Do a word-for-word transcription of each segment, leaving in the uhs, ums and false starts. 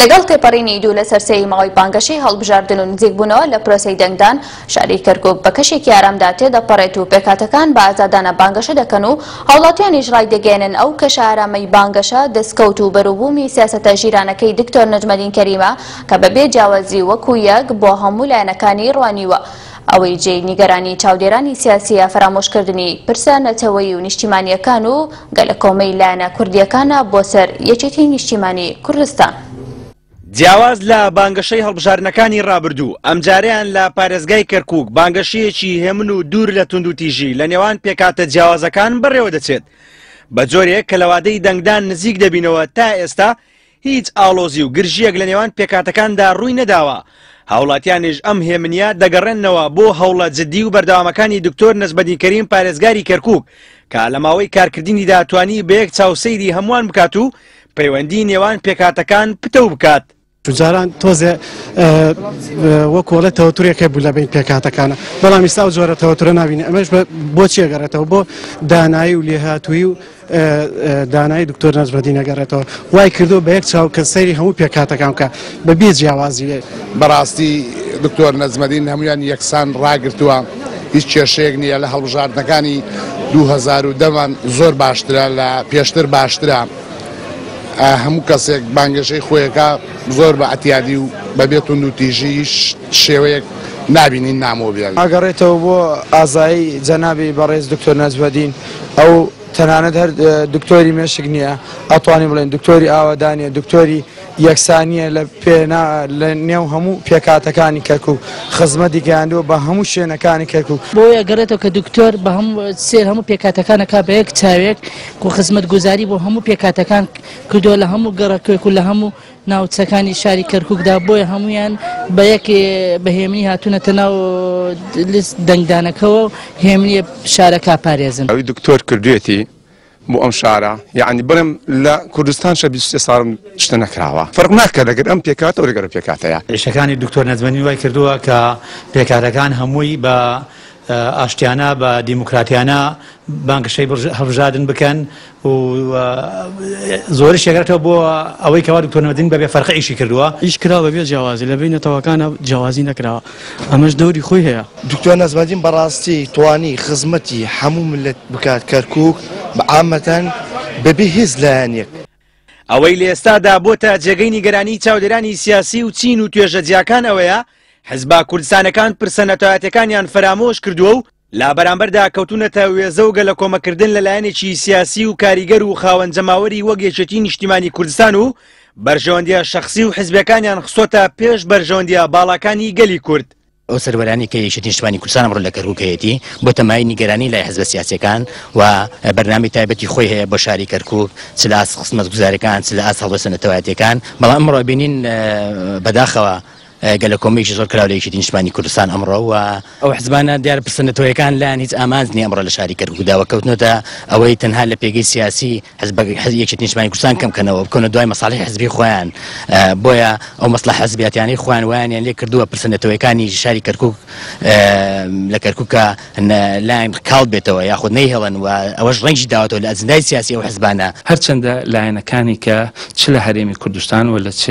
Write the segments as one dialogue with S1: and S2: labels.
S1: لەگەڵ تێپەڕینی دوو لەسەر سێی ماوەی بانگەشەی هەڵبژاردن و نزیکبوونەوە لە پرۆسەی دەنگدان، شاری کەرکوک بە کەشێکی ئارامدا تێدەپەڕێت و پێکهاتەکان بە ئازادانە بانگەشە دەکەن و هاوڵاتیانیش ڕایدەگەیەنن ئەو کەشە ئارامەی بانگەشە دەستکەوت و بەروبوومی سیاسەتە ژیرانەکەی دکتۆر نەجمەدین کەریمە کە بەبێ جیاوازی وەکو یەک بۆ هەموو لایەنەکانی ڕوانیوە. ئەوەی جێی نیگەرانی چاودێرانی سیاسیە فەرامۆشکردنی پرسە نەتەوەیی و نیشتیمانیەکان و گەلەکۆمەی لایەنە کوردیەکانە بۆ سەر یەکێتی نیشتیمانی کوردستان.
S2: جیاواز لە بانگەشەی هەڵبژاردنەکانی ڕابردوو، ئەمجارەیان لە پارێزگای کەرکوک بانگەشەیەکی هێمن و دوور لە توندوتیژی لە نێوان پێکهاتە جیاوازەکان بەڕێوە دەچێت، بە جۆرێک کە لەوادەی دەنگدان نزیک دەبینەوە تا ئێستا هیچ ئاڵۆزی و گرژیەک لە نێوان پێکهاتەکاندا ڕووی نەداوە. هاوڵاتیانیش ئەم هێمنیە دەگەڕێننەوە بۆ هەوڵە جدی و بەردەوامەکانی دکتۆر نەجمەدین کەریم پارێزگاری کەرکوک کە لە ماوەی کارکردنیدا توانی بە یەک چاو سەیری هەمووان بکات و پەیوەندی نێوان پێکهاتەکان پتەو بکات.
S3: جاران تۆزێ وەکۆڵە تەوەتورێک هەبوو لە بین پێکهاتەکانە، بەڵام ئێستا ئەو جۆرە تەوەتورە نابینی. ئەمەش بۆچی ئەگەڕێتەوە؟ بۆ دانایی و لێهاتوویی و دانایی دکتۆر نەجمەدین ئەگەڕێتەوە. وای کردو بە یەک چاو کە سەیری هەموو پێکهاتەکان بکە بەبێ جیاوازی.
S4: بەڕاستی دکتۆر نەجمەدین هەمویان یەکسان ڕاگرتووە، هیچ کێشەیەک نییە. لە هەڵبژاردنەکانی دوو هەزار و دەمان زۆر باشترە، لە پێشتر باشترە. هەموو کەسێک بانگەشەی خۆیەکە زۆر بە ئەتیادی و بەبێ توندوتیژی شێوەیەک نابینین نامۆ بێن.
S5: ئاگەڕێتەوە بۆ ئازایی جەنابی بەڕێز دکتۆر نەجمەدین، ئەو تەنانەت هەر دکتۆری مێشک نییە، ئەتوانین بڵێن دکتۆری ئاوەدانیە، دکتۆری یەکسانیە لە پێنا لە نێو هەموو پێکهاتەکانی کەرکوک، خزمەتی گەیاندووە بە هەموو شوێنەکانی کەرکوک.
S6: بۆیە ئەگەڕێتەوە کە دکتۆر بە هەموو سێر هەموو پێکهاتەکانەکە بە یەک چاوێک و خزمەتگوزاری بۆ هەموو پێکهاتەکان کردووە لە هەموو گەڕەکێک و لە هەموو ناوچەکانی شاری کەرکوکدا، بۆیە هەمویان بە یەک بەهێمنی هاتوونەتە ناو لیست دەنگدانەکەوە و هێمنیە شارەکە پارێزن.
S7: ئەوی دکتۆر کردوێتی بۆ ئەم شارە، یعنی بڵێم لە کوردستان شە بیست و سێ ساڵم شتە نەکراوە، فەرق ناکات لەگەر ئەم پێکهاتە و لەگەر پێکهاتەیە.
S8: ئیشەکانی دکتۆر نەجمەدین وای کردووە کە پێکهاتەکان هەمووی بە ئاشتیانە بە دیموکراتیانە بانگەشەی هەڵبژاردن بکەن و زۆریش یەکگرێتەوە بۆ ئەوەی کەوا دکتۆر نەجمەدین بەبێ فەرقە ئیشی کردووە.
S9: ئیش کراوە بەبێ جیاوازی، لە بین نەتەوەکانە جیاوازی نەکراوە، ئەمەش دەوری خۆی هەیە.
S10: دکتۆر نەجمەدین بەڕاستی توانی خزمەتی هەموو ملت بکات کەرکوک بە عامەتەن بەبێ هیچ لایەنێک.
S2: ئەوەی لە ئێستادا بۆتە جێگەی نیگەرانی چاودێرانی سیاسی و چین و توێژە جیاکان ئەوەیە حزبە کوردستانەکان پرسە نەتەوایەتیەکانیان فەرامۆش کردووە و لا بەرامبەردا کەوتونەتە وێزە و گەلەکۆمەکردن لە لایەنێکی سیاسی و کاریگەر و خاوەن جەماوەری وەک یەکێتی نیشتیمانی کوردستان و بەرژەوەندیە شەخسی و حزبەکانیان خستۆتە پێش بەرژەوەندیە باڵاکانی گەلی کورد.
S11: ئەو سەروەرانی کە یەکێتی نیشتیمانی کوردستان ئەمڕۆ لە کەرکوک هەیەتی بۆتە مایەی نیگەرانی لای حزبە سیاسیەکان و بەرنامەی تایبەتی خۆی هەیە بۆ شاری کەرکوک، چ لە ئاست خزمەتگوزاریەکان چ لە ئاست هەڵوێستە نەتەوایەتیەکان. بەڵام ئەمڕۆ بینین بەداخەوە گەلەکۆمەیەکی زۆر کراوە لە یەکێتی نیشتیمانی کوردستان ئەمڕۆ و ئەو حزبانە دیارە پرسە نەتەوەیەکان لایەن هیچ ئامانج نییە ئەمڕۆ لە شاری کەرکوکدا و کەوتنەوەتە ئەوەی تەنها لە پێگەی سیاسی یەکێتی نیشتیمانی کوردستان کەم کەنەوە بکەونە دوای مەساڵحی حزبی خۆیان، بۆیە ئەو مەسڵەحە حزبیاتیانەی خۆیان وایانیان لێ کردووە پرسە نەتەوەیەکانی شاری کەرکوک لە کەرکوکە لایەن کاڵ بێتەوە یاخود نەیهێڵن و ئەوەش ڕەنگی داوەتەوە لە ئەجندای سیاسی ئەو حزبانە.
S12: هەرچەندە لایەنەکانی کە چ لە هەرێمی کوردستان و لە چ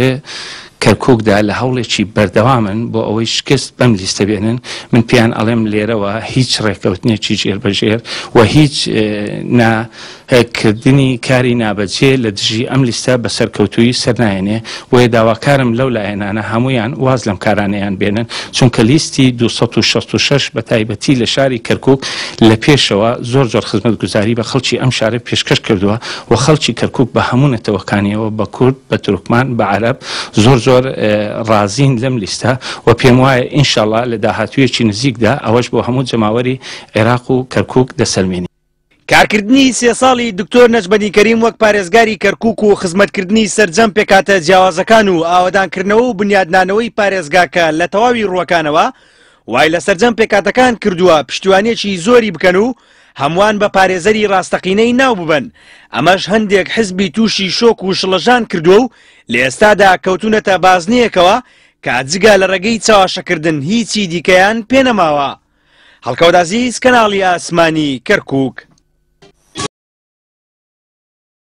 S12: کەرکوکدا لە هەوڵێکی بەردەوامن بۆ ئەوەی شکست بەم لیستە بێنن، من پێیان ئەڵێم لێرەوە هیچ ڕێککەوتنێکی ژێربەژێر و هیچ ناکردنی کاری نابەجێ لە دژی ئەم لیستە بە سەرکەوتوویی سەرنایەنێ. بۆیە داواکارم لەو لایەنانە هەمویان واز لەم کارانەیان بێنن، چونکە لیستی دوو سەد و شەست و شەش بە تایبەتی لە شاری کەرکوک لە پێشەوە زۆر زۆر خزمەتگوزاری بە خەڵکی ئەم شارە پێشکەش کردووە و خەڵکی کەرکوک بە هەموو نەتەوەکانیەوە، بە کورد، بە تورکمان، بە عەرەب زۆر زۆر ڕازین لەم لیستە و پێم وایە ئینشەڵا لە داهاتوویەکی نزیکدا ئەوەش بۆ هەموو جەماوەری عێراق و کەرکوک دەسەلمێنی.
S2: کارکردنی سێ ساڵی دکتۆر نەجمەدین کەریم وەک پارێزگاری کەرکوک و خزمەتکردنی سەرجەم پێکهاتە جیاوازەکان و ئاوەدانکردنەوە و بنیادنانەوەی پارێزگاکە لە تەواوی ڕووەکانەوە وای لە سەرجەم پێکهاتەکان کردووە پشتیوانیەکی زۆری بکەن و هەمووان بە پارێزەری ڕاستەقینەی ناو ببەن. ئەمەش هەندێک حزبی تووشی شۆک و شڵەژان کردووە و لە ئێستادا کەوتونەتە بازنەیەکەوە کە جگە لە ڕێگەی چاواشەکردن هیچی دیکەیان پێنەماوە. هەڵکەوت عەزیز، کەناڵی ئاسمانی کەرکوک.